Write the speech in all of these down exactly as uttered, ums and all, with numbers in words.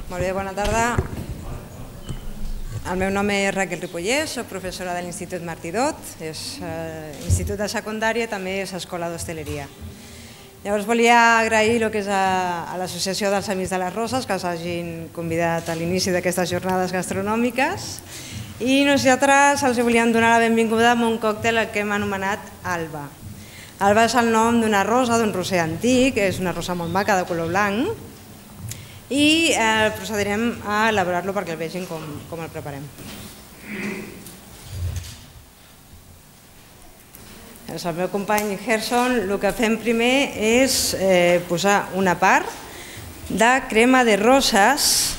Molt bé, bona tarda. El meu nom és Raquel Ripollès, soc professora de l'Institut Martí Dot, és institut de secundària i també és escola d'hostaleria. Llavors volia agrair el que és a l'Associació dels Amics de les Roses que us hagin convidat a l'inici d'aquestes jornades gastronòmiques i nosaltres els volíem donar la benvinguda amb un còctel que hem anomenat Alba. Alba és el nom d'una rosa, d'un roser antic, és una rosa molt maca de color blanc i procedirem a elaborar-lo perquè el vegin com el preparem. El meu company Gerson, el que fem primer és posar una part de crema de roses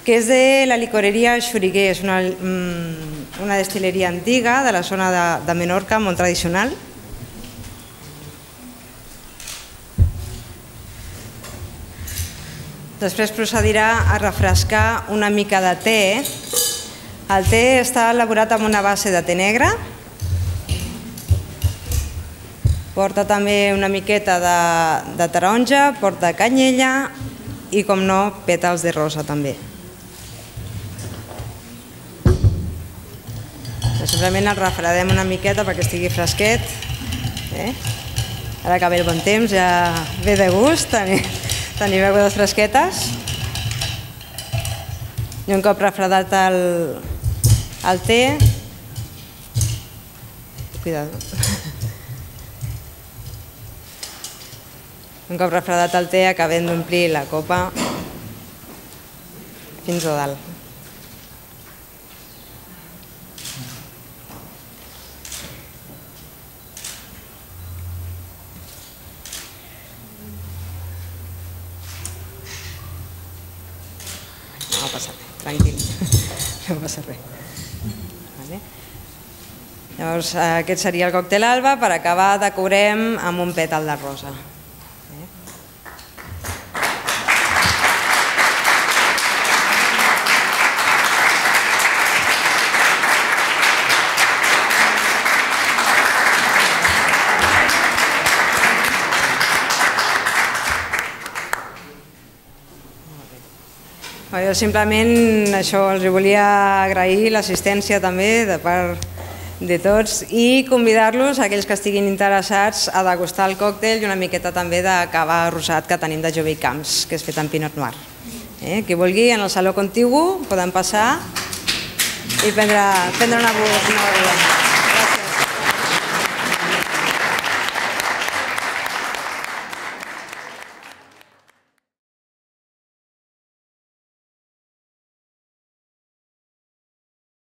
que és de la licoreria Xuriguer, és una destil·leria antiga de la zona de Menorca, molt tradicional. Després procedirà a refrescar una mica de te. El te està elaborat amb una base de te negre. Porta també una miqueta de taronja, porta canyella i, com no, pètals de rosa també. Simplement el refredem una miqueta perquè estigui fresquet. Ara que ve el bon temps ja ve de gust tenir begudes fresquetes. I un cop refredat el te, cuidado, un cop refredat el te acabem d'omplir la copa fins a dalt. No passa res, tranquil, no passa res. Llavors aquest seria el còctel Alba. Per acabar decorem amb un pètal de rosa. Jo simplement això, els volia agrair l'assistència també de part de tots i convidar-los, aquells que estiguin interessats, a degustar el còctel i una miqueta també de cava rosat que tenim de Jove i Camps, que és fet amb Pinot Noir. Qui vulgui, en el saló contigu poden passar i prendre una beguda.